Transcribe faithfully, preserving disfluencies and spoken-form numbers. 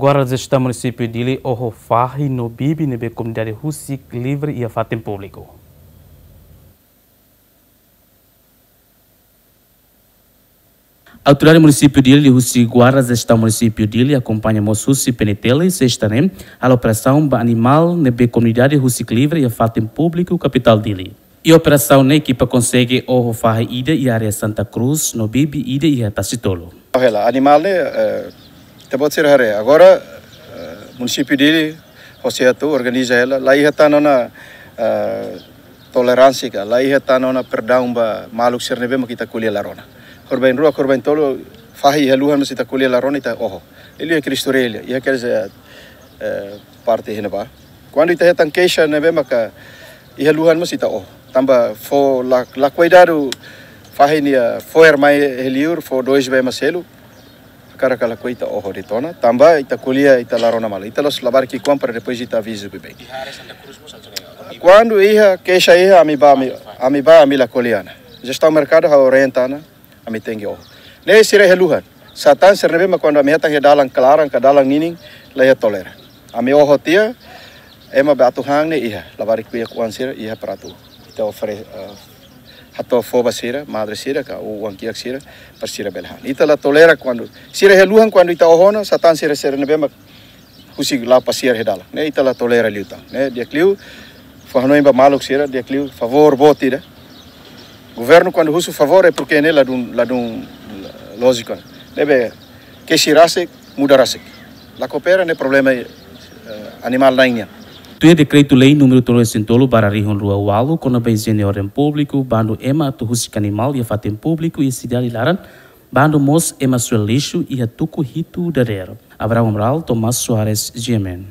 Guarda Jestaun Munisípiu Dili oho fahi no bibi ne'ebé komunidade husik livre iha fatin públiku. Autoridade Munisípiu Dili husi Guarda Jestaun Munisípiu Dili akompaña mós husi P N T L sesta ne'e halo operasaun ba animál ne'ebé komunidade husik livre iha fatin públiku kapitál Dili. Iha operasaun ne'e ekipa konsege oho fahi ida iha área Santa Cruz no bibi ida iha Tasitolu. Hela, animál ne'e, eh, ita-boot sira haree. Agora, eh, Munisípiu Dili, hosi atu organiza hela, la iha tan ona, eh, toleránsia ka, la iha tan ona perdaun ba maluk sira ne'ebé mak ita ko'alia la rona. Korban rua, korban tolu, fahi iha luhan mós ita ko'alia la rona ita oho. Liuliu iha Cristo Rei, iha, quer dizer, eh, parte iha ne'ebá. Kuandu ita hetan keixa ne'ebé maka iha luhan mós ita oho. Tanba fó la, la kuidadu fahi nia fo'er mai iha liur, fó dois bee mak selu. Hakarak ka lakohi ita oho de'it ona. Tanba ita ko'alia ita la rona malu. Ita la'ós labarik ki'ikoan para depois ita avizu beibeik. Iha área Santa Cruz mós atu ne'e. Kuandu iha keixa iha ami bá ami, ami bá ami la ko'alia ona. Jestaun merkadu ha'u orienta ona. Ami tenke oho. Ne'e sira iha luhan. Satán sira ne'ebé mak kuandu ami hetan iha dalan klaran ka dalan ninin la iha tolera. Ami oho tiha, ema be atu han ne'e iha, labarik kuya kuan sira iha para atu. Ita ofere, eh, hato'o fó ba sira, madre sira ka oan kiak sira, para sira bele han. Ita la tolera kuandu sira iha luhan kuandu ita oho ona, satán sira sira ne'ebé mak husik la'o pasiar iha dalan. Ne'e ita la tolera liután. Ne'e di'ak liu, fó hanoin ba maluk sira, di'ak liu, favór boot ida. Governu kuandu husu favór é porque ne'e ladún, ladún lójiku. Ne'ebé, keixa rasik, muda rasik. La koopera ne'e problema, eh, animál na'in nian. Tuir dekretu-lei númeru tolu resin tolu barra rihun rua ualu, kona-ba ijiene orden públiku, bandu ema atu husik animál iha fatin públiku iha sidade laran, bandu mós ema suel lixu iha tuku hitu dadeer. Abraham Amaral, Tomás Soares, G M N.